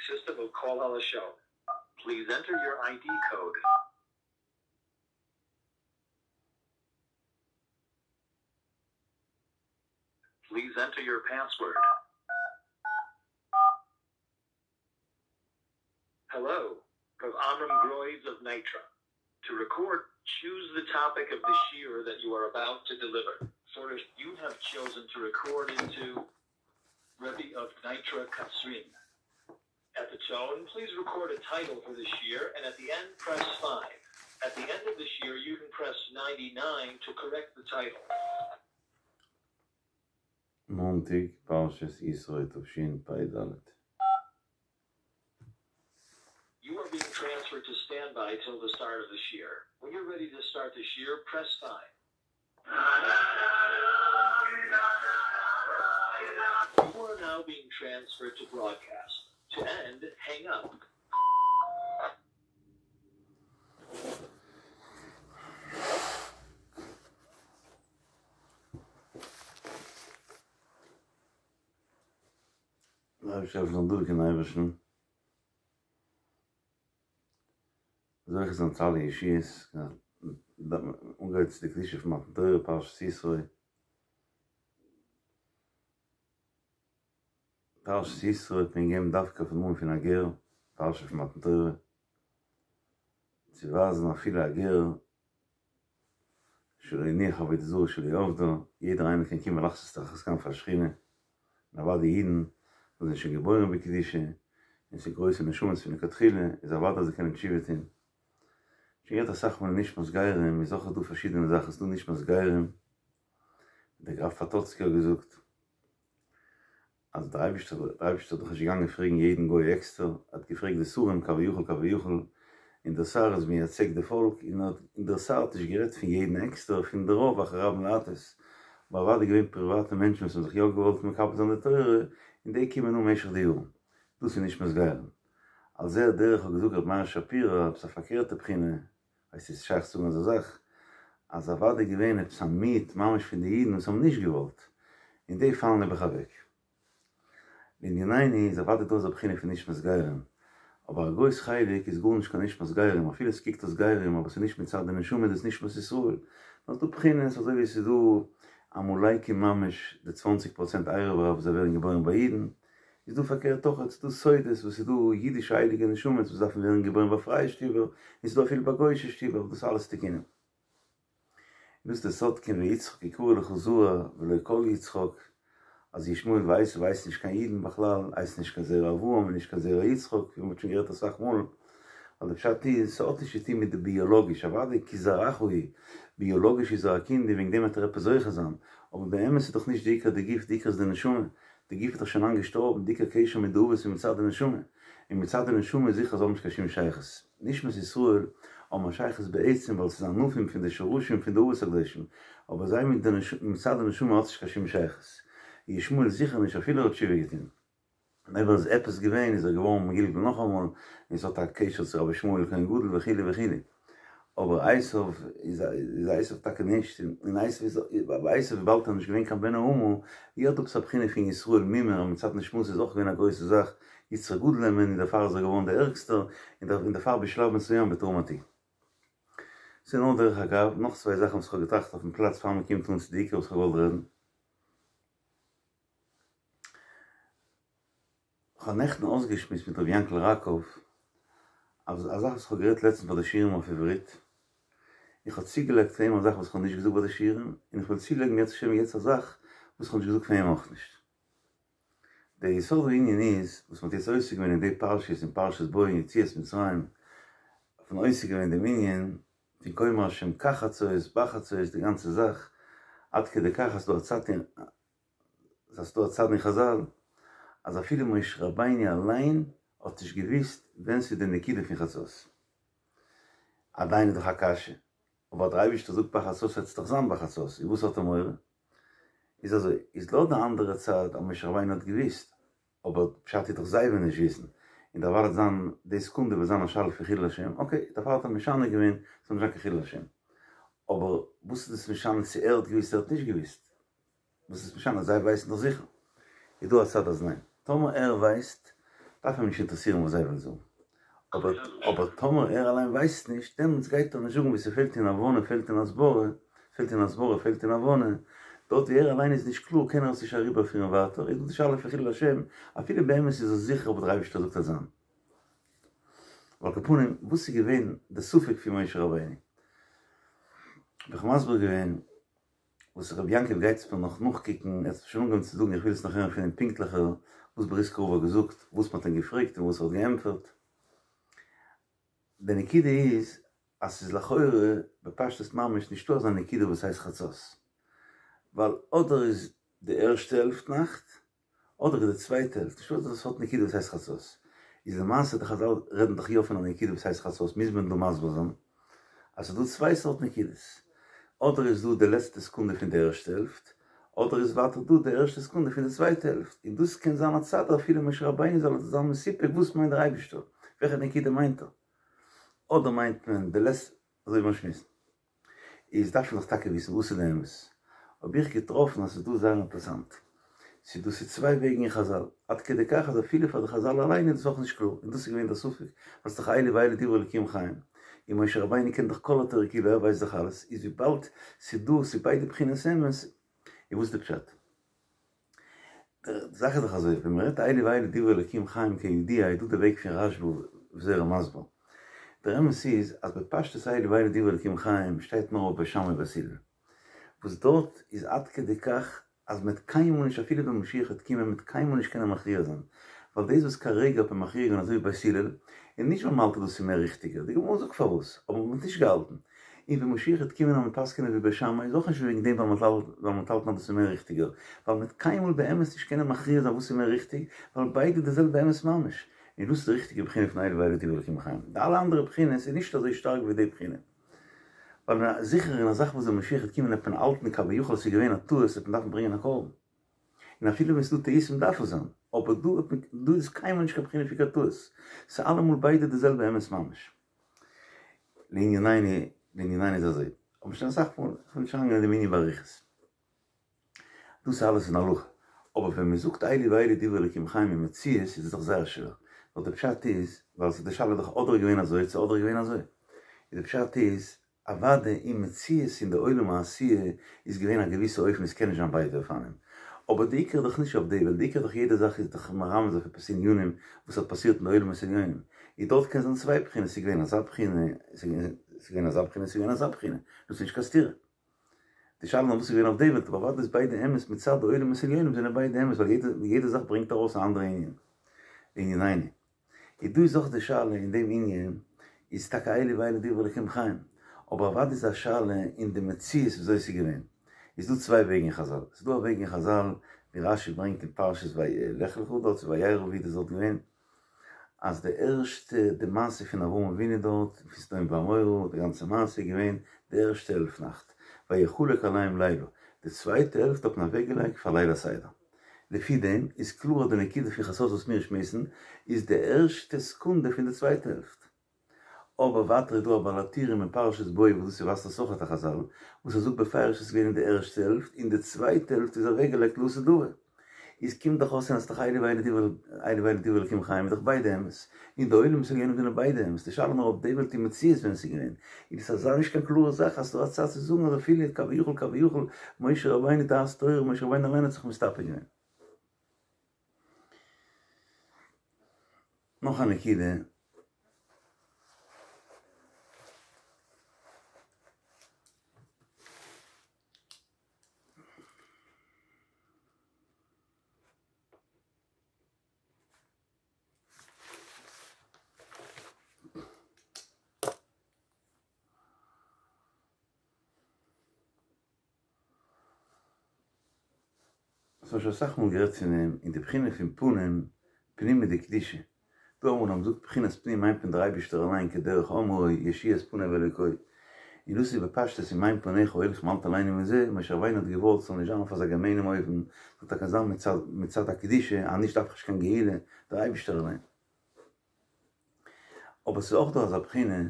System of Kol Halashon. Please enter your ID code. Please enter your password. Hello, Rav Amram Groiz of Nitra. To record, choose the topic of the shiur that you are about to deliver. For if you have chosen to record into Rebbe of Nitra Katzrin. At the tone, please record a title for the shiur, and at the end, press 5. At the end of the shiur, you can press 99 to correct the title. מאנטאג פרשת יתרו תשפ"ד. You are being transferred to standby till the start of the shiur. When you're ready to start the shiur, press 5. You are now being transferred to broadcast. To end, hang up. דער אייבערשטער זאל דורך אין אייבערשטן זוכה זיין צו אלע ישועות, אנגעהויבן צו די קדושה פון מתן תורה פרשת יתרו, פרשת יתרו האט מען געגעבן דווקא אויפן נאמען פון א גר, פרשה פון מתן תורה, צו ווייזן אפילו א גר שלא הניח עבודה זרה שלא עבדה, יעדער איינער קען קומען לחסות תחת כנפי השכינה, און אוודאי אידן וואס זענען שוין געבוירן בקדושה, און ס'איז גרויסע נשמות פון לכתחילה, איז אוודאי אז זיי קענען תשובה טון. שוין גערעדט אסאך מאל אין נשמת גרים, איז אויך דא פארשידענע זאכן, ס'איז דא נשמת גרים, דער גראף פאטאצקי האט געזאגט, אז דער אייבערשטער דער אייבערשטער איז דאך נישט געגאנגען פרעגן יעדן גוי עקסטער, ער האט געפרעגט די שרים כביכול כביכול, און דער שר איז מייצג די פאלק, און האט און דער שר האט נישט גערעדט פון יעדן עקסטער, פון די רוב אחרי רבים להטות, אבער אוודאי געווען פריוואטע מענטשן וואס האבן זיך יא געוואלט מקבל זיין די תורה, און די קומען אן משך די יארן. דאס איז נשמת גרים. על זה הדרך האט געזאגט רבי מאיר שפירא עפעס א פארקערטע בחינה, ווייסט איז שייך צו זאגן אזא זאך אז אוודאי געווען עפעס א מיעוט ממש פון די אידן וואס האבן נישט געוואלט, און די פאלן נעבעך אוועק. לענינינו איז אוודאי דא אזא בחינה פון נשמת גרים, אבער א גרויס חלק איז גארנישט קיין נשמת גרים, אפילו עס קוקט אויס גרים אבער ס'איז נישט מצד די נשמה דאס נשמת ישראל, נאר ס'דא בחינות אזוי ווי עס איז דא עמלקים ממש די צוואנציג פראצענט ערב רב וואס זיי ווערן געבוירן ביי אידן, איז דא פארקערט אויך, ס'איז דא סודות וואס איז דא אידישע הייליגע נשמות וואס דארפן ווערן געבוירן ביי פרייע שטיבער, און ס'איז דא אפילו ביי גוי'אישע שטיבער, דאס אלעס תיקונים. און דאס איז די סוד כן ויצחק יקרא לך זרע ולא כל יצחק, אז ישמעאל ועשו הייסן נישט קיין אידן בכלל, הייסן נישט קיין זרע אברהם און נישט קיין זרע יצחק, ווי מ'האט שוין גערעדט אסאך מאל, ווייל די פשט איז, ס'האט נישט צו טון מיט די ביאלאגיש, אוודאי כי זרעך הוא, ביאלאגיש איז ער א קינד און וועגן דעם וועט ער עפעס זוכה זיין, אבער באמת איז דאך נישט די עיקר די גוף, די עיקר איז די נשמה, די גוף איז דאך שוין לאנג געשטארבן, די עיקר קשר מיט די אבות איז מצד די נשמה, און מצד די נשמה איז זיכער אז זיי האבן נישט קיין שום שייכות. נשמת ישראל האבן א שייכות בעצם ווייל ס'איז ענפים פון די שרשים פון די אבות הקדושים, אבער זיי מיט די מצד די נשמה האט נישט קיין שום שייכות. ישמעאל זיכער נישט אפילו ער האט תשובה געטון. און אויב ער איז עפעס געווען איז ער געווארן מגולגל נאכאמאל, און ס'האט א קשר צו רבי ישמעאל כהן גדול וכו' וכו'. אבער עשיו איז איז עשיו טאקע נישט, און עשיו איז ביי עשיו וויבאלד ער איז נישט געווען קיין בן האמה, איז דא עפעס א בחינה פון ישראל מומר אז מצד נשמתו איז אויך געווען א גרויסע זאך, יצרו גדול הימנו און דערפאר איז ער געווארן דער ערגסטער, און דערפאר בשלב מסוים בתרמתי. ס'איז נאר דרך אגב, נאך צוויי זאכן וואס כ'האב געטראכט אויפן פלאץ פאר מ'קומט אן צו די עיקר וואס כ'האב געוואלט רעדן. כ'האב נעכטן אויסגעשמועסט מיט ר' יענקל ראקוב א זאך וואס כ'האב גערעדט לעצטנס ביי די שיעורים אויף עברית, איך האב צוגעלייגט פאר אים א זאך וואס כ'האב נישט געזאגט ביי די שיעורים, און איך וועל צולייגן אם ירצה השם יעצט א זאך וואס כ'האב נישט געזאגט פאר אים אויך נישט. דער יסוד הענין איז, וואס מ'האט יעצט עוסק געווען אין די פרשיות אין פרשת בא אין יציאת מצרים, האט מען עוסק געווען דעם ענין פון כה אמר השם כחצות, בחצות, די גאנצע זאך, עד כדי כך אז ס'דא א צד אין אז ס'דא א צד אין חזל אז אפילו משה רבינו אליין האט נישט געוויסט ווען ס'איז די נקודה פון חצות. עדיין איז דאך א קשיא, אבער דער אייבערשטער זאגט בחצות וועט עס דאך זיין בחצות, איז וואס האט ער מורא? איז אזוי, איז לויט די אנדערע צד אז משה רבינו האט געוויסט, אבער פשט איז דאך זיי וועלן נישט וויסן, און דערווייל וועט זיין די סעקונדע וועט זיין א שאלה פון חילול השם, אקעי, דערפאר האט ער משנה געווען ס'זאל נישט זיין קיין חילול השם. אבער וואס איז דאס משנה צו ער האט געוויסט ער האט נישט געוויסט? וואס איז משנה? זיי ווייסן דאך זיכער. איז דא א צד אז ניין. טאמער ער ווייסט, דארף אים נישט אינטערעסירן וואס זיי וועלן זאגן. אבער אבער טאמער ער אליין ווייסט נישט, דעמאלטס גייט ער נישט זאגן וואו ס'פעלט אין הבנה פעלט אין הסברה, פעלט אין הסברה פעלט אין הבנה, דארט ווי ער אליין איז נישט קלאר קען ער עס נישט אריבערפירן ווייטער, איז דא די שאלה פון חילול השם, אפילו באמת איז ער זיכער וואס דער אייבערשטער זאגט אז זיין. על כל פנים, וואס איז געווען די ספק פון משה רבינו? האב איך מסביר געווען וואס רבי יעקב גייט עס מיר נאך נאכקוקן, ער האט שוין אנגעהויבן צו זאגן איך וויל עס נאך הערן פון אים פונקטליכער וואס בריסקער רב האט געזאגט, וואס מען האט אים געפרעגט און וואס ער האט געענטפערט. די נקודה איז אז ס'איז לכאורה בפשטות ממש נישטא אזא נקודה וואס הייסט חצות, ווייל אדער איז די ערשטע העלפט נאכט, אדער איז די צווייטע העלפט, נישטא אזא סארט נקודה וואס הייסט חצות. איז למעשה די חזל רעדן דאך יא פון א נקודה וואס הייסט חצות, מוז מען דא מסביר זיין אז ס'איז דא צוויי סארט נקודות, אדער איז דא די לעצטע סעקונדע פון די ערשטע העלפט, אדער איז ווייטער דא די ערשטע סעקונדע פון די צווייטע העלפט, און דאס קען זיין א צד אפילו משה רבינו זאל זיין מסופק וואס מיינט דער אייבישטער, וועלכע נקודה מיינט ער, אדער מיינט מען די לעצטע, אזוי ווי מיר שמועסן. איז דארף מען דאך טאקע וויסן וואס איז די אמת. האב איך געטראפן אז ס'איז דא זייער אינטערעסאנט. ס'איז דא ס'איז צוויי וועגן אין חזל. עד כדי כך אז אפילו פאר די חזל אליין איז דאס אויך נישט קלאר. און דאס איז געווען דער ספק. ווייל ס'איז דאך אלו ואלו דברי אלקים חיים. און משה רבינו קען דאך כל התורה כולה, ער ווייסט דאך אלעס. איז וויבאלד ס'איז דא ס'איז ביידע בחינות אמת, איז וואס איז די פשט? די זאך איז דאך אזוי, ווען מען רעדט אלו ואלו דברי אלקים חיים כידוע איז דא די וועג פון רשב"א וויאזוי ער איז מסביר. דער אמת איז אז בפשטות אלו ואלו דברי אלקים חיים שטייט נאר אויף בית שמאי ובית הלל. וואס דארט איז עד כדי כך אז מען וועט קיינמאל נישט אפילו ווען משיח וועט קומען מען וועט קיינמאל נישט קענען מכריע זיין. ווייל דאס וואס כרגע האט מען מכריע געווען אזוי ווי בית הלל, איז נישט ווייל מ'האלט אז דאס איז מער ריכטיגער, די גמרא זאגט פארוואס, אבער מען האט נישט געהאלטן. און ווען משיח וועט קומען אז מ'וועט פסק'ענען ווי בית שמאי איז אויך נישט וועגן דעם ווייל מ'האט ווייל מ'האלט אז דאס איז מער ריכטיגער, ווייל מ'וועט קיינמאל באמת נישט קענען מכריע זיין וואס איז מער ריכטיג, ווייל ביידע די זעלבע אמת ממש. און דאס איז די ריכטיגע בחינה פון אלו ואלו דברי אלקים חיים. די אלע אנדערע בחינות איז נישט אזוי שטארק ווי די בחינה. ווייל זיכער אין א זאך וואס ווען משיח וועט קומען וועט מען האלטן כביכול עס איז געווען א טעות וועט מען דארפן ברענגען א קרבן. און אפילו ווען ס'איז דא טעותים דארף עס זיין, אבער דא האט מען, דא איז קיינמאל נישט קיין בחינה פון קיין טעות, ס'איז אלעמאל ביידע די זעלבע אמת ממש. לענינינו, לענינינו איז אזוי, האב איך שוין אסאך מאל, איך וויל נישט אריינגיין אין דעם ענין באריכות. דאס איז אלעס אין הלכה, אבער ווען מען זאגט אלו ואלו דברי אלקים חיים אין מציאות איז עס דאך זייער שווער, ווייל די פשט איז, ווייל ס'איז די שאלה איז דאך אדער געווען אזוי צו אדער געווען אזוי, איז די פשט איז, אוודאי אין מציאות אין די עולם העשיה איז געווען א געוויסע אופן עס קען נישט זיין ביידע אופנים, אבער די עיקר איז דאך נישט אויף די וועלט, די עיקר איז דאך יעדע זאך איז דאך מרמז אויף עפעס ענינים וואס האט פאסירט אין די עולמות עליונים, איז דארט קען זיין צוויי בחינות ס'איז געווען אזא בחינה, ס'איז געווען אזא בחינה ס'איז געווען אזא בחינה, דאס איז נישט קיין סתירה. די שאלה איז נאר וואס איז געווען אויף די וועלט, אבער אוודאי איז ביידע אמת מצד די עולמות עליונים זענען ביידע אמת ווייל יעדע זאך ברענגט ארויס א אנדערע ענין. לענינינו. איז דא איז אויך די שאלה אין דעם ענין, איז טאקע אלו ואלו דברי אלקים חיים, אבער אוודאי איז א שאלה אין די מציאות וויאזוי עס איז געווען. איז דא צוויי וועגן אין חזל, ס'איז דא א וועג אין חזל ווי רש"י ברענגט אין פרשת לך לך דארט צו וירא ווי דאס דארט געווען, אז די ערשטע די מעשה פון אברהם אבינו דארט פון סדום ועמורה די גאנצע מעשה איז געווען די ערשטע העלפט נאכט, ויחלק עליהם לילה, די צווייטע העלפט האט מען אוועק געלייגט פאר ליל הסדר. לפי דעם איז קלאר אז די נקודה פון חצות וואס מיר שמועסן איז די ערשטע סעקונדע פון די צווייטע העלפט. אבער ווייטער איז דא א בעל הטורים אין פרשת בא וואס דאס איז ווייזט אויס אויך א חזל וואס ער זאגט בפירוש עס איז געווען אין די ערשטע העלפט און די צווייטע העלפט איז אוועקגעלייגט לעתיד לבא. איז קומט דאך אויס אז ס'דאך אלו ואלו דברי אלו ואלו דברי אלקים חיים איז דאך ביידע אמת, און די עולמות עליונים זענען ביידע אמת, די שאלה איז נאר אויף די וועלט אין מציאות ווען עס איז געווען, איז דאס אזא נישט קיין קלארע זאך אז ס'דא א צד צו זאגן אז אפילו כביכול כביכול משה רבינו דעת תורה משה רבינו אליין האט זיך מסתפק געווען. נאך א נקודה. כ'האב שוין אסאך מאל גערעדט פון דעם, אין די בחינה פון פנים, פנימא דקדושה. דא אמאל אז מ'זאגט בחינת פנים מיינט מען דער אייבישטער אליין כדרך אמרו ישועות פניו אלוקי. און דאס איז בפשטות אם אין פניך הולכים אל תעלנו מזה, משה רבינו האט געוואלט ס'זאל נישט זיין אויף אזא געמיינעם אופן, זאל טאקע זיין מצד מצד הקדושה, אז נישט דארף איך נישט קיין גאולה, דער אייבישטער אליין. אבער ס'איז אויך דא אזא בחינה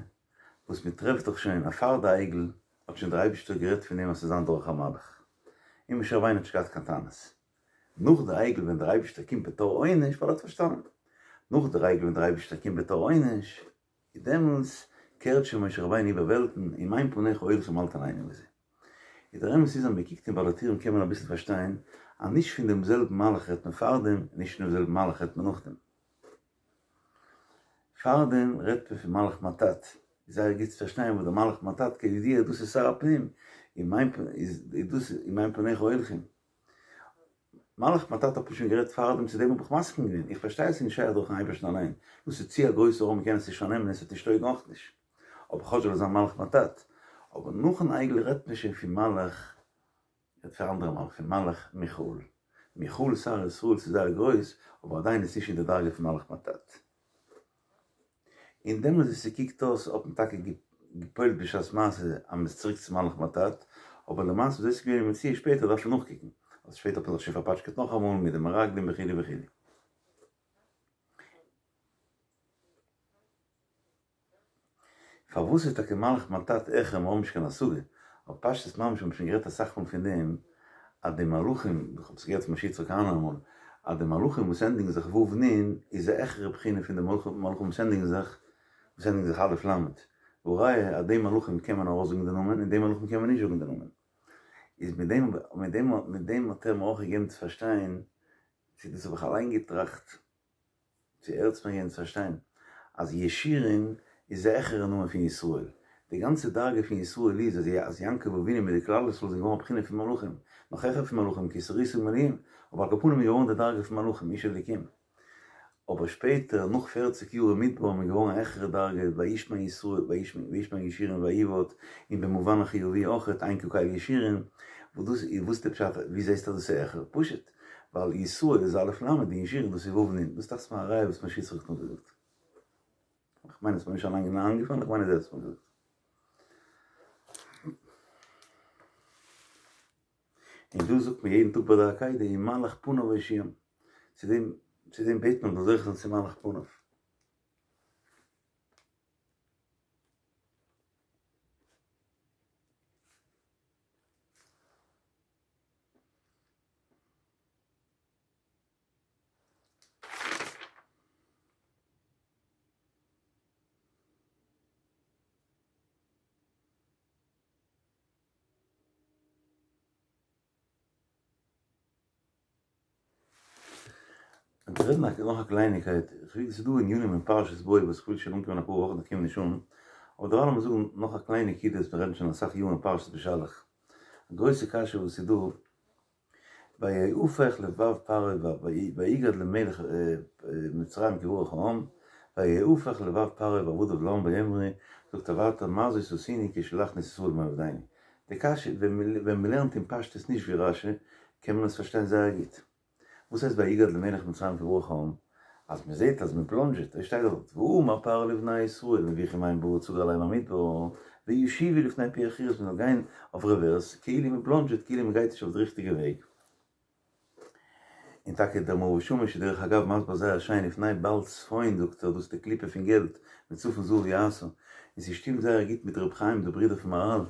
וואס מ'טרעפט דאך שוין אז פאר די עגל האט שוין דער אייבישטער גערעדט פון דעם אז ס'זאל זיין דורך א מלאך, און משה רבינו האט נישט געהאט קיין טענות. נאך די עגל ווען דער אייבישטער קומט בתור עונש ווייל ער האט פארשטאנען. נאך דער עגל ווען דער אייבערשטער קומט בתור עונש, איז דעמאלטס קערט שוין משה רבינו איבער וועלטן, אם אין פניך הולכים אל תעננו בזה. איז דער אמת איז אז מען קוקט אין בעל הטורים קען מען אביסל פארשטיין אז נישט פון דעם זעלבן מלאך רעדט מען פארדעם און נישט פון דעם זעלבן מלאך רעדט מען נאכדעם. פארדעם רעדט מען פון מלאך מט"ט, איז זייער גוט צו פארשטיין וואס דער מלאך מט"ט כידוע דאס איז שר הפנים, אם אין איז דאס אם אין פניך הולכים. מלאך מט"ט האט מען שוין גערעדט פארדעם צו דעם האב איך מסכים געווען, איך פארשטיי אז ס'איז נישט שייך דורכן אייבערשטן אליין, דאס איז צו א גרויסע אור מ'קען עס נישט פארנעמען און ס'וועט נישט טויגן אויך נישט, אבער כאטש זאל עס זיין מלאך מט"ט, אבער נאכן עגל רעדט מען שוין פון מלאך, רעדט פון אנדערע מלאך, פון מלאך מיכאל, מיכאל שר ישראל ס'איז זייער גרויס, אבער עדיין איז נישט אין די דרגה פון מלאך מט"ט. און דעמאלטס ווי ס'קוקט אויס האט מען טאקע געפועלט בשעת מעשה אז מ'איז צוריק צו מלאך מט"ט, אבער למעשה וויאזוי ס'איז געווען אין מציאות שפעטער דארף מען נאכקוקן, אז שפעטער האט מען זיך שוין פארפאטשקעט נאכאמאל מיט די מרגלים וכו' וכו'. פארוואס איז טאקע מלאך מט"ט העכער מיר האבן נישט קיין השגה, אבער פשטות ממש האבן שוין גערעדט אסאך מאל פון דעם אז די מלאכים, איך האב עס געהערט פון משה יצחק כהנא אמאל, אז די מלאכים וואס ענדיגן זיך ו' נ' איז א העכערע בחינה פון די מלאכים וואס ענדיגן זיך וואס ענדיגן זיך א' ל', והראיה אז די מלאכים קען מען ארויסזאגן די נאמען און די מלאכים קען מען נישט זאגן די נאמען. איז מיט דעם מיט דעם מיט דעם האט ער מיר אויך געגעבן צו פארשטיין, צו דאס האב איך אליין געטראכט, צו ער האט עס מיר געגעבן צו פארשטיין אז ישורון איז א העכערע נאמען פון ישראל, די גאנצע דרגה פון ישראל איז אז אז יעקב אבינו מיט די כלל ישראל זענען געווארן א בחינה פון מלאכים, נאך העכער פון מלאכים כי שרית עם אלהים, אבער על כל פנים איז געווארן די דרגה פון מלאכים איש אלוקים. אבער שפעטער נאך פערציג יאר אין מדבר איז מען געווארן א העכערע דרגה וישמן ישראל וישמן ישורון ויבעט, און במובן החיובי אויכעט אין כקל ישורון, וואס דאס איז וואס איז די פשט ווי זעסטו אז דאס איז העכער? פשוט. ווייל ישראל איז א' ל' און ישורון דאס איז ו' נ', דאס דאכט זיך מיר א ראיה וואס משה יצחק האט נאכגעזאגט. איך מיין עס איז מיר נישט אליין איינגעפאלן, איך מיין אז ער האט עס מיר געזאגט. און דאס זאגט מען יעדן טאג ביי די עקידה, ומלאך פניו הושיעם. צו דעם צו דעם בעט מען מ'זאל זוכה זיין צו מלאך פניו. און צו רעדן נאך א קלייניקייט, איך וויל, ס'איז דא ענינים אין פרשת בא וואס איך וויל שוין אנקומען אפאר וואכן איך קום נישט אן, אבער דערווייל לאמיר זאגן נאך א קליינע נקודה וואס מיר רעדן שוין אסאך יארן אין פרשת בשלח, א גרויסע קשיא וואס איז דא, ויהפך לבב פרעה ויגד למלך מצרים כי ברח העם, ויהפך לבב פרעה ועבדיו לעם ויאמרו, זאגט ער ווייטער מה זאת עשינו כי שלחנו את ישראל מעבדנו, די קשיא ווען מ'לערנט אין פשטות נישט ווי רשי קען מען עס פארשטיין זייער גוט. וואס הייסט ויגד למלך מצרים כי ברח העם? אז מען זעט אז מען בלאנדזשעט, עס שטייט דארט ואמר פרעה לבני ישראל נביחים המה בארץ הגר עליהם המדבר וישובו לפני פי החירות מען זאל גיין אויף רעווערס כאילו מען בלאנדזשעט כאילו מען גייט נישט אויף די ריכטיגע וועג. און טאקע דער מאור ושמש איז דרך אגב מסביר זייער שיין לפני בעל צפון זאגט ער דאס איז די קליפה פון געלט מצפון זהב יעשה און ס'שטימט זייער גוט מיט ר' חיים די ברודער פון מהרל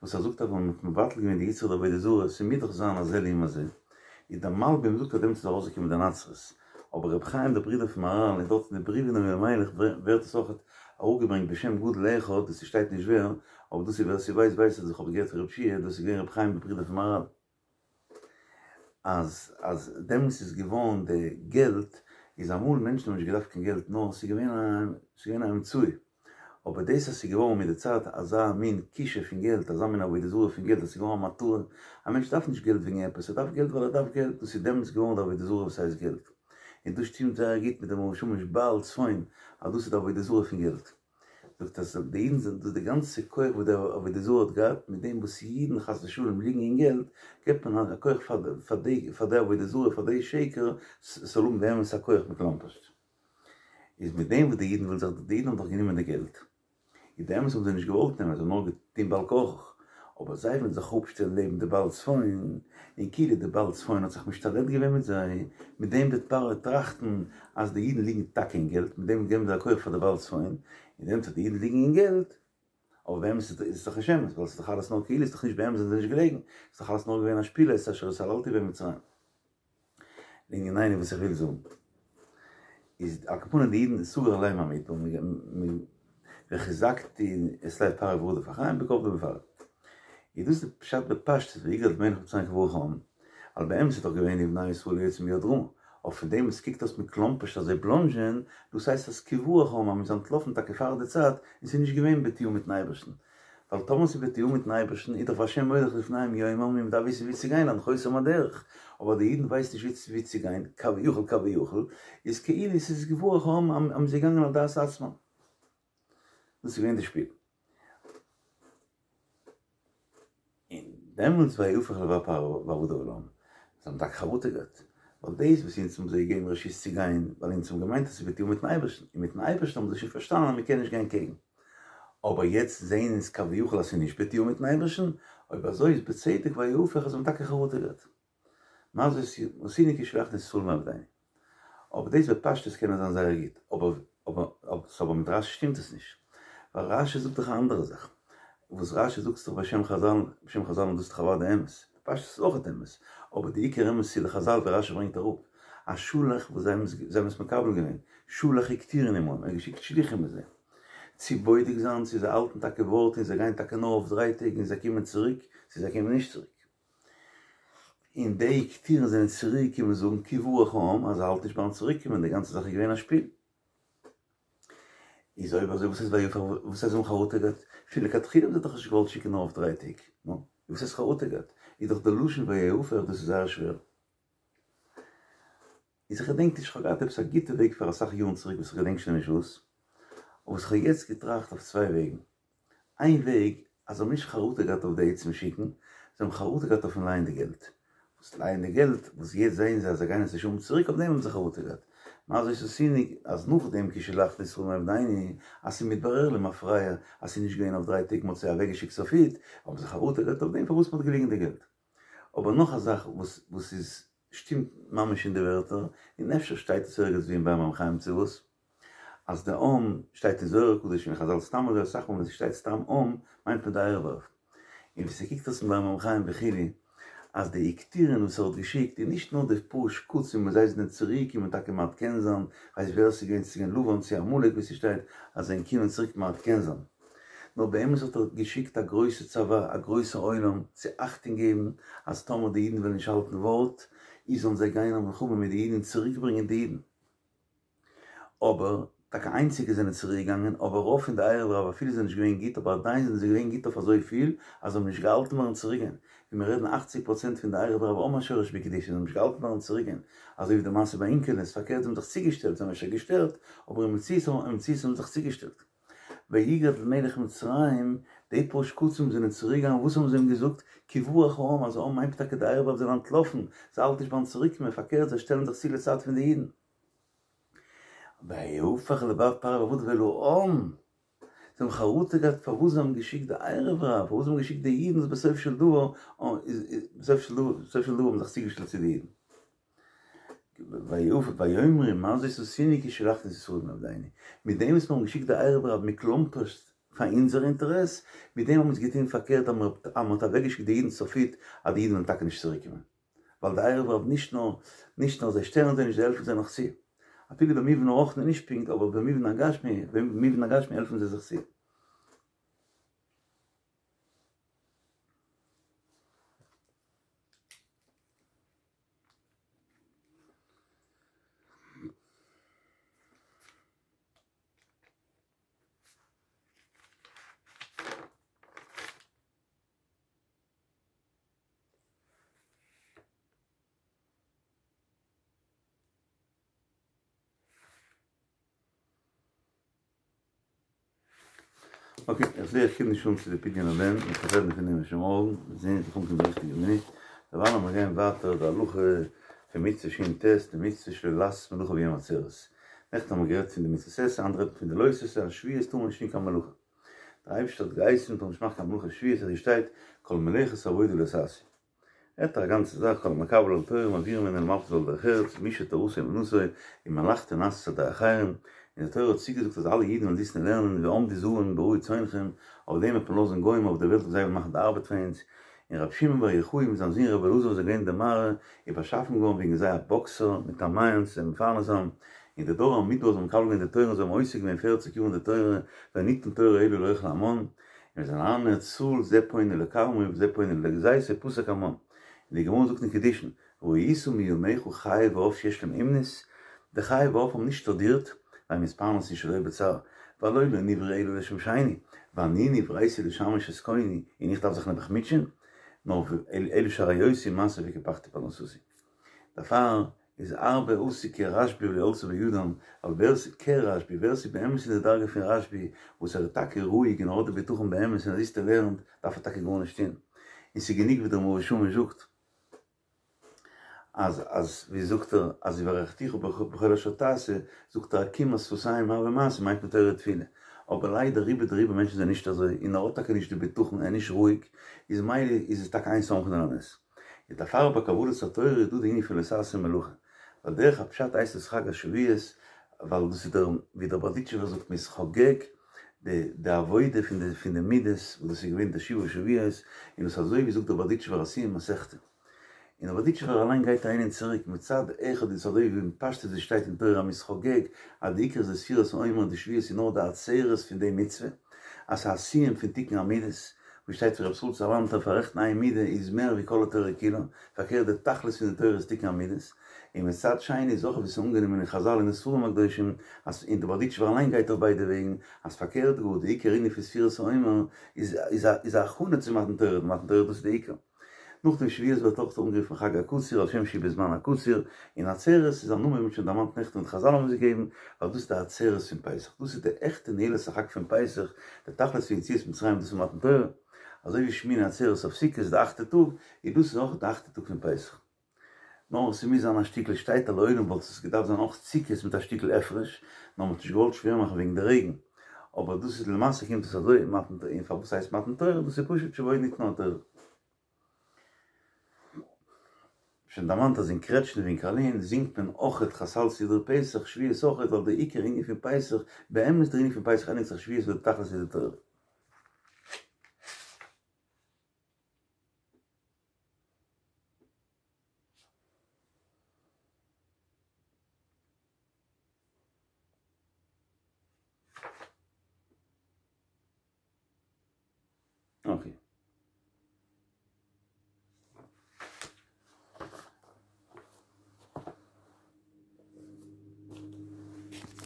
וואס ער זאגט אז ווען מ'האט מבטל געווען די יצרא דעבודה זרה ס'מוז דאך זיין הזה לעומת זה איז דער מלבים זאגט אז דעמאלטס איז ארויסגעקומען די נצרות אבער רבי חיים דער ברודער פון מהרל און דארט אין די בריוו אין אלימלך ווערט עס אויך אראפגעברענגט בשם גדול אחד דאס שטייט נישט ווער אבער דאס איז ווער ס'ווייסט ווייסט אז איך האב געהערט פון רב שיע דאס איז געווען רבי חיים דער ברודער פון מהרל. אז אז דעמאלטס איז געווארן די געלט איז אמאל מענטשן האבן נישט געדארפט קיין געלט נאר ס'איז געווען א ס'איז געווען א אמצעי אבער דאס אז ס'איז געווארן מיט די צייט אזא מין כישוף פון געלט אזא מין עבודה זרה פון געלט אז ס'איז געווארן א מטרה א מענטש דארף נישט געלט וועגן עפעס ער דארף געלט ווייל ער דארף געלט דאס איז דעמאלטס געווארן די עבודה זרה וואס הייסט געלט און דאס שטימט זייער גוט מיט דעם מאור ושמש בעל צפון אז דאס איז די עבודה זרה פון געלט. זאגט אז די אידן זענען דאס די גאנצע כח וואס די עבודה זרה האט געהאט, מיט דעם וואס אידן חס ושלום ליגן אין געלט, געבט מען א כח פאר די פאר די עבודה זרה פאר די שקר ס'זאל האבן באמת א כח מכלומרשט. איז מיט דעם וואס די אידן ווילן זיך, די אידן האבן דאך גענומען די געלט, איז באמת האבן זיי נישט געוואלט נעמען, זיי האבן נאר געטון בעל כרחך, אבער זיי ווילן זיך אפשטעלן לעבן די בעל צפון, און כאילו די בעל צפון האט זיך משתלט געווען מיט זיי, מיט דעם וועט פרעה טראכטן אז די אידן ליגן טאקע אין געלט, מיט דעם געבן זיי א כח פאר די בעל צפון, און דעמאלטס אז די אידן ליגן אין געלט, אבער באמת איז עס דאך נישט אמת, ווייל עס איז דאך אלעס נאר כאילו, עס איז דאך נישט באמת זענען זיי נישט געלעגן, עס איז דאך אלעס נאר געווען א שפיל, את אשר התעללתי בהם במצרים. לענינינו וואס איך וויל זאגן. איז על כל פנים די אידן סגר עליהם המדבר וחזקתי את לב פרעה ורדף אחריהם בכבדו בפרעה. איז דאס די פשט בפשטות ויגד מלך מצרים כי ברח העם, ווייל באמת איז דאך געווען ובני ישראל יוצאים ביד רמה, אבער פון דעם וואס קוקט אויס מקלומפערשט אז זיי בלאנדזשען, דאס הייסט אז כי ברח העם אז מ'איז אנטלאפן טאקע פאר די צייט און ס'איז נישט געווען בתיאום מיטן אייבערשטן, ווייל טאמער ס'איז בתיאום מיטן אייבערשטן איז דאך והשם מוליך לפניהם יומם און מ'דארף וויסן ווי צו גיין הנחותם הדרך, אבער די אידן ווייסן נישט ווי צו גיין כביכול כביכול איז כאילו ס'איז כי ברח העם אז מ'איז געגאנגען על דעת עצמם. דאס איז געווען די שפיל. און דעמאלטס ויהפך לבב פרעה ועבדיו אל העם, זיי האבן טאקע חרטה געהאט, ווייל דאס וואס אונז האבן זיי געגעבן רשות צו גיין, ווייל אונז האבן געמיינט אז ס'איז בתיאום מיטן אייבערשטן, און מיטן אייבערשטן האבן זיי שוין פארשטאנען אז מ'קען נישט גיין קעגן. אבער יעצט זעהן אונז כביכול אז ס'איז נישט בתיאום מיטן אייבערשטן, אויב אזוי איז בצדק ויהפך אז זיי האבן טאקע חרטה געהאט. מה זאת עשינו כי שלחנו את ישראל מעבדינו. אבער דאס בפשטות קען זיין זייער גוט, אבער אבער אבער מיט רשי שטימט עס נישט. ווייל רשי זאגט דאך א אנדערע זאך. וואס רשי זאגט איז דאך בשם חזל, בשם חזל און דאס איז דאך אוודאי אמת. בפשטות איז אויך אמת. אבער די עיקר אמת איז די חזל ווי רשי ברענגט אראפ. אז שלח וואס זיי האבן זיי האבן עס מקבל געווען. שלח הקטירין עמהם, ער האט געשיקט שליחים מיט זיי. צו בודק זיין צו זיי האלטן טאקע ווארט און זיי גייען טאקע נאר אויף דריי טעג און זיי קומען צוריק, צו זיי קומען נישט צוריק. און די יקטירין זענען צוריק געקומען זאגן כי ברח העם אז זיי האלטן נישט ביים צוריק קומען די גאנצע זאך איז געווען א שפיל. איז אויב אזוי וואס איז ויהפך וואס הייסט זיי האבן חרטה געהאט? פון לכתחילה האבן זיי דאך נישט געוואלט שיקן נאר אויף דריי טעג, נו וואס הייסט חרטה געהאט? איז דאך די לשון ויהפך דאס איז זייער שווער. איז איך געדענק נישט, כ'האב געהאט עפעס א גוטע וועג פאר אסאך יארן צוריק וואס איך געדענק שוין נישט וואס, אבער וואס כ'האב יעצט געטראכט אויף צוויי וועגן, איין וועג אז זיי האבן נישט חרטה געהאט אויף די עצם שיקן, זיי האבן חרטה געהאט אויפן לייען די געלט, וואס לייען די געלט, וואס יעצט זעען זיי אז זיי גייען עס נישט האבן צוריק אויף דעם האבן זיי חרטה געהאט, מה זאת עשינו אז נאכדעם כי שלחנו את ישראל מעבדינו אז ס'איז מתברר למפרע אז ס'איז נישט געווען אויף דריי טעג מ'האט זיי אוועקגעשיקט סופית, האבן זיי חרטה געהאט אויף דעם פארוואס מ'האט געליגן די געלט. אבער נאך א זאך וואס וואס איז שטימט ממש אין די ווערטער, און אפשר שטייט עס ערגעץ ווי אין באר מים חיים צו וואס, אז די עם שטייט אין זוהר הקדוש און חזל סתם אזוי אסאך מאל ווען ס'שטייט סתם עם מיינט מען די ערב רב. און ווי ס'קוקט אויס אין באר מים חיים וכו' אז די יקטירין וואס ער האט געשיקט איז נישט נאר די פאר שקצים וואס זיי זענען צוריק קומען טאקע מעדכן זיין, כ'ווייס ווער ס'איז געווען צו ס'איז געווען לבן צו עמלק ווי ס'שטייט אז זיי זענען קומען צוריק מעדכן זיין. נאר באמת האט ער געשיקט א גרויסע צבא, א גרויסע עולם, צו אכטונג געבן אז טאמער די אידן וועלן נישט האלטן ווארט, איז זאלן זיי גיין א מלחמה מיט די אידן און צוריק ברענגען די אידן. אבער, טאקע איינציגע זענען צוריק געגאנגען, אבער רוב פון די ערב רב אפילו זענען נישט געווען גוט, אבער עדיין זענען זיי געווען גוט אויף אזוי פיל, אז זיי האבן נישט געהאלטן ביים צוריק גיין. ווי מיר רעדן אכציג פראצענט פון די ערב רב האבן א שורש בקדושה, זיי האבן נישט געהאלטן ביים צוריק גיין, אזוי ווי די מעשה ביי אונקלוס, פארקערט זיי האבן זיך צוגעשטעלט, זיי האבן אפשר געשטערט, אבער אין מציאות האבן זיי זיך צוגעשטעלט. ויגד מלך מצרים, די פאר שקצים זענען צוריק געגאנגען, וואס האבן זיי אים געזאגט? כי ברח העם, אז העם מיינט טאקע די ערב רב זענען אנטלאפן, זיי האלטן נישט ביים צוריק קומען, פארקערט זיי שטעלן זיך צו לצד פון די אידן. ויהפך לבב פרעה ועבדיו אל העם, זיי האבן חרטה געהאט פארוואס זיי האבן געשיקט די ערב רב, פארוואס זיי האבן געשיקט די אידן וואס בסוף של דבר, בסוף של דבר, בסוף של דבר האבן זיך צוגעשטעלט צו די אידן. ויאמרו מה זאת עשינו כי שלחנו את ישראל מעבדינו, מיט דעם וואס מיר האבן געשיקט די ערב רב מכלומפערשט פאר אונזער אינטערעס, מיט דעם האבן אונז געטון פארקערט אז מען האט אוועקגעשיקט די אידן סופית אז די אידן וועלן טאקע נישט צוריק קומען, ווייל די ערב רב נישט נאר נישט נאר זיי שטערן זיי נישט זיי העלפן זיי נאך צו, אפילו במובן הרוחני נישט פונקט אבער במובן הגשמי במובן הגשמי העלפן זיי זיך צו. אקעי, איך זעה איך קום נישט אן צו די פדיון הבן, איך וועל רעדן פון דעם שוין מארגן, מיר זעהן זיך אנקומען די ריכטיגע מינוט, דערווייל לאמיר גיין ווייטער די הלכה פון מצוה שין טית, די מצוה שלא לעשות מלאכה ביום העצרת. נעכטן האבן מיר גערעדט פון די מצות עשה, היינט רעדט מען פון די לא תעשה, אז שבועות טאר מען נישט טון קיין מלאכה. דער אייבערשטער האט געהייסן מען טאר נישט מאכן קיין מלאכה שבועות, אזוי שטייט כל מלאכת עבודה לא תעשו. רעדט ער א גאנצע זאך, כל המקבל עול תורה מעבירין ממנו עול מלכות ועול דרך ארץ, מי שתורתו אומנותו, ומלאכתו נעשית על ידי אחרים, און די תורה האט צוגעזאגט אז אלע אידן וועלן זיצן און לערנען ועמדו זרים ברעו צאנכם, אויף דעם וועט מען לאזן גוים אויף די וועלט און זיי וועלן מאכן די ארבעט פאר אונז, און רבי שמעון בר יוחאי מיט זיין זון רבי אלעזר וואס זענען געווען אין די מערה, איז באשאפן געווארן וועגן זיי א באקסער מיט א מעיין צו זיי מפרנס זיין, און אין די דור המדבר זיי האבן מקבל געווען די תורה און זיי האבן עוסק געווען פערציג יאר אין די תורה, ניתנה תורה אלא לאוכלי המן, און ווען זיי זענען אריין אין ארץ ישראל זה פונה לכרמו וזה פונה לגזיתו פסק המן. און די גמרא זאגט אין קידושין, ראית מימיך חיה ועוף שיש להם אומנות? די חיה ועוף האבן נישט שטודירט, והם מתפרנסין שלא בצער, והלא לא נבראו אלא לשמשני, ואני נבראתי לשמש את קוני, און איך דארף זיך נעבעך מוטשען? נאר אלא שהריותי מעשה וקיפחתי פרנסתי. דערפאר איז הרבה עשו כרשב"י ולא עלתה בידם, ווייל ווער ס'איז כרשב"י, ווער ס'איז באמת אין די דרגה פון רשב"י, וואס ער איז טאקע רואיג און ער האט די בטחון באמת און ער זיצט און לערנט, דארף ער טאקע גארנישט טון. און ס'איז גענוג ווי דער מאור ושמש זאגט, אז אז ווי זאגט ער אז וברכתיך בכל אשר תעשה, זאגט ער עקימת שפתיים הוה מעשה מיינט מען תורה ותפילה, אבער ליידער רובא דרובא מענטשן זענען נישט אזוי און ער האט טאקע נישט די בטחון ער איז נישט רואיג, איז מילא איז עס טאקע אין סומכין על הנס. איז דערפאר ביי קבלת התורה איז דא די ענין פון לא תעשה מלאכה, ווייל דרך הפשט הייסט עס חג השבועות ווייל דאס איז דער ווי דער בארדיטשובער זאגט מ'איז חוגג די די עבודה פון די פון די מידות וואס דאס איז געווען די שבעה שבועות, און דאס אזוי ווי זאגט דער בארדיטשובער א סיום מסכתא. און דער בארדיטשובער אליין גייט אהין און צוריק, מצד אחד איז אזוי ווי אין פשטות ווי שטייט אין תורה אז מ'איז חוגג אז די עיקר איז די ספירת העומר און די שבועות איז נאר די עצרת פון די מצוה, אז ס'איז א סיום פון תיקון המידות, ווי שטייט פון רב ישראל סאלאנטער פאררעכטן איין מידה איז מער ווי כל התורה כולה, פארקערט די תכלית פון די תורה איז תיקון המידות, און מצד שני איז אויך ווי ס'איז אנגענומען אין חזל און אין ספרים הקדושים אז און די בארדיטשובער אליין גייט אויף ביידע וועגן, אז פארקערט גאר די עיקר ענין פון ספירת העומר איז איז א הכנה צו מתן תורה, די מתן תורה דאס איז די עיקר. נאכדעם שבועות ווערט אויך אנגערופן חג הקציר על שם שהוא בזמן הקציר, און עצרת איז א נאמען ווי מ'האט שוין דערמאנט נעכטן וואס חזל האבן עס געגעבן, ווייל דאס איז די עצרת פון פסח, דאס איז די עכטע נעילת החג פון פסח, די תכלית פון יציאת מצרים דאס איז מתן תורה, אזוי ווי שמיני עצרת אויף סוכות די אכטע טאג, איז דאס איז אויך די אכטע טאג פון פסח. נאר ס'מוז זיין א שטיקל שטייט אז לעולם וואלט עס געדארפט זיין אויך סוכות מיט א שטיקל הפרש, נאר מ'האט נישט געוואלט שווער מאכן וועגן די רעגן, אבער דאס איז למעשה קומט עס אזוי, מתן תורה, און פארוואס הייסט מתן תורה, דאס איז פשוט שבו ניתנה התורה. שוין דערמאנט אז אין קרעטשניף אין קארלין זינגט מען אויכעט חסל סידור פסח שבועות אויכעט ווייל די עיקר ענין פון פסח, באמת דער ענין פון פסח ענדיגט זיך שבועות ווייל די תכלית איז די תורה. אקעי.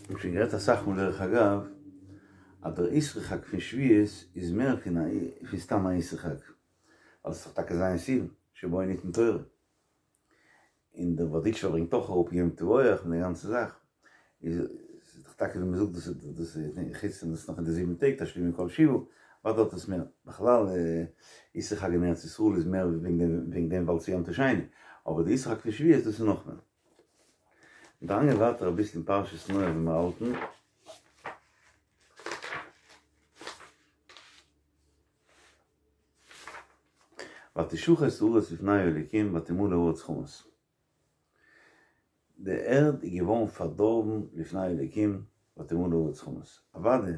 מ'האט שוין גערעדט אסאך מאל דרך אגב, אז דער אסרו חג פון שבועות איז מער פון א פון סתם א אסרו חג, ווייל עס איז דאך טאקע ז' סיוון, שבו ניתנה תורה. און דער בארדיטשובער ברענגט אויך אראפ יום תבורך און די גאנצע זאך, איז דאך טאקע ווי מ'זאגט דאס איז דאס איז חוץ פון דאס נאך אין די זיבן טעג תשלימי כל שבעה, וואס דארט איז מער, בכלל אסרו חג אין ארץ ישראל איז מער וועגן דעם וועגן דעם ווייל ס'איז יום טוב שני, אבער די אסרו חג פון שבועות דאס איז נאך מער. געגאנגען ווייטער אביסל אין פרשת נח ווי מיר האלטן. ותשחת הארץ לפני האלקים ותמלא הארץ חמס. די ערד איז געווארן פארדארבן לפני האלקים ותמלא הארץ חמס. אוודאי,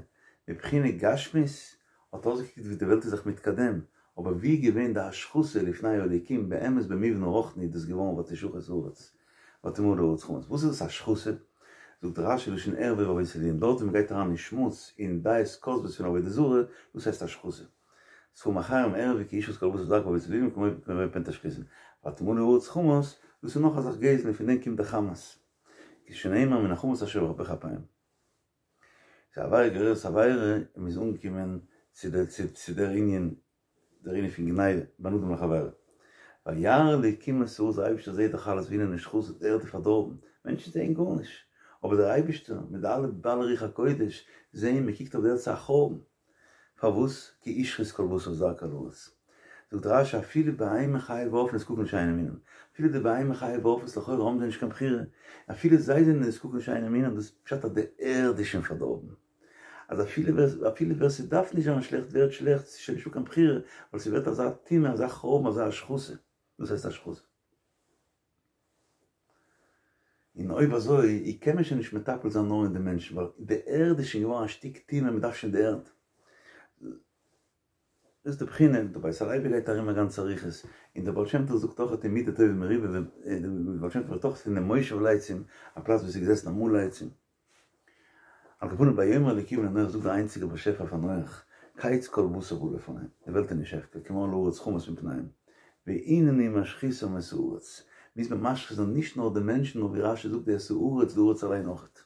מבחינה גשמית האט אויסגעקוקט ווי די וועלט איז זיך מתקדם, אבער ווי איז געווען די השחתה לפני האלקים באמת במבנה רוחני איז דאס געווארן ותשחת הארץ ותמלא הארץ חמס. וואס איז דאס השחתה? זאגט רשי לשון ערווה ועבודת אלילים, דארט ווי מ'גייט אריין אין שמוץ און דעות כוזבות פון עבודה זרה, דאס הייסט השחתה. ספרים אחרים ערווה כי ישחית כל בשר דרכו בעבודת אלילים כמו פן תשחיתון. ותמלא הארץ חמס, דאס איז נאך א זאך גזל און פון דעם קומט די חמס. שנאמר מן החמס אשר בך אפים. ס'איז עבירה גוררת עבירה און מ'איז אנגעקומען צו דער צו דער ענין דער ענין פון גניבה בין אדם לחבירו. וירא אלקים את הארץ דער אייבערשטער זעט דאך אלעס והנה נשחתה די ערד איז פארדארבן, מענטשן זעען גארנישט, אבער דער אייבערשטער מיט די אלע בעלי רוח הקודש זעען מען קוקט אויף די ערד ס'איז א חורבן, פארוואס? כי השחית כל בשר את דרכו על הארץ. זאגט רשי אפילו בהמה חיה ועוף נזקקין לשאינו מינן, אפילו די בהמה חיה ועופות לכאורה האבן זיי נישט קיין בחירה, אפילו זיי זענען נזקקין לשאינו מינן, דאס פשט אז די ערד איז שוין פארדארבן. אז אפילו ווער אפילו ווער ס'דארף נישט זיין שלעכט ווערט שלעכט, ס'איז שוין נישטא קיין בחירה, ווייל ס'ווערט אזא טומאה, אזא חורבן, אזא השחתה, דאס הייסט השחתה. און אויב אזוי קען מען שוין נישט מטפל זיין נאר אין די מענטשן, ווייל די ערד איז שוין געווארן א שטיק טומאה, מ'דארף שוין די ערד. דאס איז די בחינה, דער בית הלוי גייט ארום א גאנצע אריכות, און דער בעל שם טוב זאגט אויך אין מידה טובה מרובה, דער בעל שם טוב רעדט אויך פון דעם מושב לצים, א פלאץ וואו עס איז געזעסן אמאל לצים. על כל פנים ויאמר אלקים לנח זאגט דער איינציגער באשעפער פאר נח, קץ כל בשר בא לפני, די וועלט איז נישט הפקר, כי מלאה הארץ חמס מפניהם, והנני משחיתם את הארץ, מוז מען משחית זיין נישט נאר די מענטשן נאר ווי רשי זאגט די את הארץ די הארץ אליין אויכעט.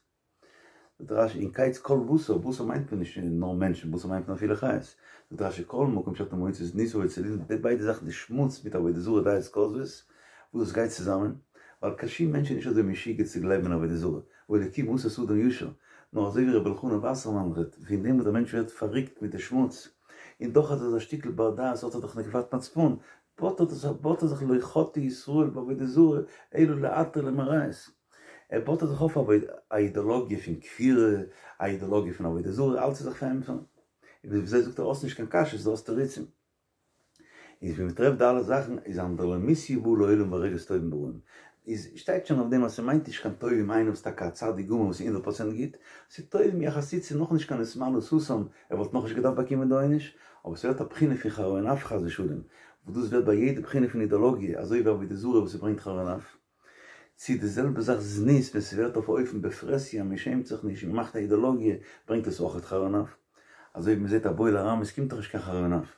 זאגט רשי און קץ כל בשר, בשר מיינט מען נישט נאר מענטשן, בשר מיינט מען אפילו חיות, זאגט רשי כל מקום שאתה מוצא זנות ועבודה די ביידע זאכן די שמוץ מיט עבודה זרה דעות כוזבות, וואס דאס גייט צוזאמען, ווייל קיין שום מענטש איז נישט אזוי משוגע צו גלייבן אין עבודה זרה, והאלקים עשה את האדם ישר, נאר אזוי ווי רבי אלחנן וואסערמאן רעדט, פון דעם וואס דער מענטש ווערט פארריקט מיט די שמוץ, און דאך האט ער אזא שטיקל בר דעת האט ער דאך נקבת מצפון, באדט ער זיך לא חטאו ישראל בעבודה זרה אלא לעטרה למראית. ער באדט זיך אויף א אידאלאגיע פון כפירה, א אידאלאגיע פון עבודה זרה, אלץ איז זיך פארענטפערן. און ווי אזוי זאגט ער האסט נישט קיין קשיות דו האסט תירוצים. איז ווי מ'טרעפט די אלע זאכן איז אנדרלמוסיא באה לעולם והורגת טובים ברעים. איז שטייט שוין אויף דעם אז ס'מיינט נישט קיין טובים איינער וואס טאקע א צדיק גמור וואס איז הונדערט פראצענט גוט, ס'איז טובים יחסית ס'איז נאכנישט קיין נתמלא סאסם ער וואלט נאכנישט געדארפט באקומען די עונש, אבער ס'ווערט א בחינה פון חרון אף חס ושלום, וואס דאס ווערט ביי יעדע בחינה פון אידאלאגיע, אזוי ווי עבודה זרה וואס ס'ברענגט חרון אף. צו די זעלבע זאך זנות ווען ס'ווערט אויף א אופן בפרהסיא מ'שעמט זיך נישט און מ'מאכט א אידאלאגיע ברענגט עס אויכעט חרון אף. אזוי ווי מ'זעט א בועל ארמית קומט דאך נישט קיין חרון אף.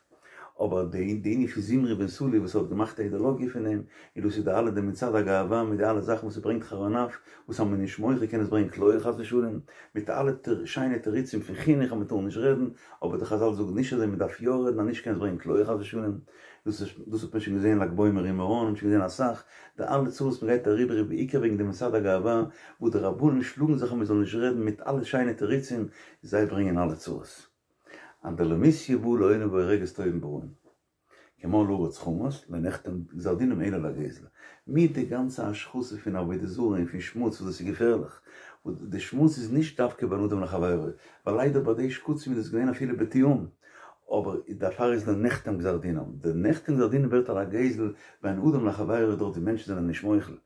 אבער די די ענין פון זמרי בן סלוא וואס האט געמאכט א אידאלאגיע פון דעם, און דאס איז די אלע די מצעד הגאווה מיט די אלע זאכן וואס ס'ברענגט חרון אף, וואס אז מ'איז נישט מוחה קען עס ברענגען כליה חס ושלום, מיט אלע שיינע תירוצים פון חינוך אז מ'טאר נישט רעדן, אבער די חזל זאגן נישט אזוי מ'דארף יא רעדן אז נישט קען עס ברענגען כליה חס ושלום. דאס איז דאס האט מען שוין געזען לג בעומר אין מירון, האט מען שוין געזען אסאך, די אלע צרות מען גייט אריבער איז בעיקר וועגן די מצעד הגאווה, וואס די רבנים שלאגן זיך אז מען זאל נישט רעדן מיט אלע שיינע תירוצים, זיי ברענגען אלע צרות. אנדרלמוסיא באה לעולם והורגת טובים ברעים. כי מלאה הארץ חמס, לא נחתם גזר דינם אלא לגזל. מיט די גאנצע השחתה פון עבודה זרה און פון שמוץ וואס דאס איז געפערליך, וואס די שמוץ איז נישט דווקא בין אדם לחבירו, ווייל ליידער ביי די שקצים איז דאס געווען אפילו בתיאום, אבער דערפאר איז לא נחתם גזר דינם, די נחתם גזר דינם ווערט על הגזל בין אדם לחבירו דארט ווי מענטשן זענען נישט מוחל,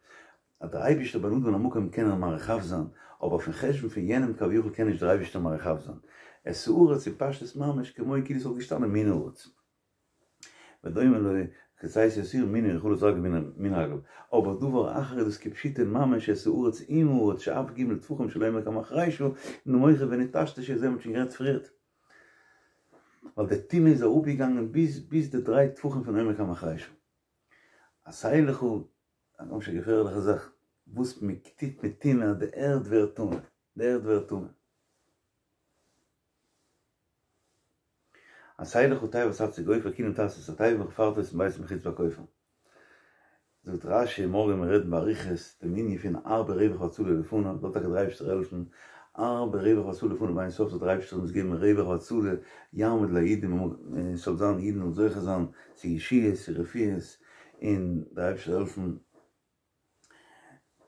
אז דער אייבישטער בין אדם למקום קען ער מאריך אף זיין, אבער אויפן חשבון פון יענעם כביכול קען נישט דער אייבישטער מאריך אף זיין. את הארץ איז פשטות ממש כמו כאילו ס'וואלט געשטאנען מן הארץ. ודומה לו כצאתו את העיר מן העיר חלץ רגליו מן רגליו, אבער דבר אחר איז דאס כפשוטו ממש את הארץ עם הארץ שאף ג' טפחים של עומק המחרישה נמוכה ונטשטשה אזוי האט מען שוין גערעדט פריערט. ווייל די טומאה איז אראפגעגאנגען ביז ביז די דריי טפחים פון עומק המחרישה. עשה לך, א ממש א געפערליכע זאך, וואס מען טוט מיט טומאה אז די ערד ווערט טמא, די ערד ווערט טמא. עשה לך תיבת עצי גופר כינים תעשה את התיבה וחפרת אותה מבית ומחוץ בכופר. זאגט רש"י, מארגן וועלן מיר רעדן באריכות דעם ענין פון הרבה רווח והצלה לפניו, זאל טאקע דער אייבערשטער העלפן, הרבה רווח והצלה לפניו באין סוף זאל דער אייבערשטער אונז געבן רווח והצלה, יעמוד ליהודים, עס זאל זיין אידן זאלן זוכה זיין צו ישועות צו רפואות, און דער אייבערשטער זאל העלפן.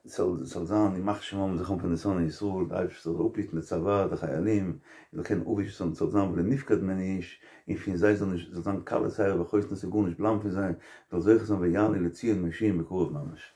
ס'זאל זיין ימח שמם וזכרם פון די שונאי ישראל, די אייבערשטער זאל אפהיטן די צבא, די חיילים, און זאל קענען אפווישן ס'זאל זיין ולא נפקד ממנו איש, און פון זיי זאל נישט זאל זיין כלה שער וחותנה ס'זאל גארנישט בלייבן פון זיי, זאל זוכה זיין ויעלו לציון מושיעים בקרוב ממש.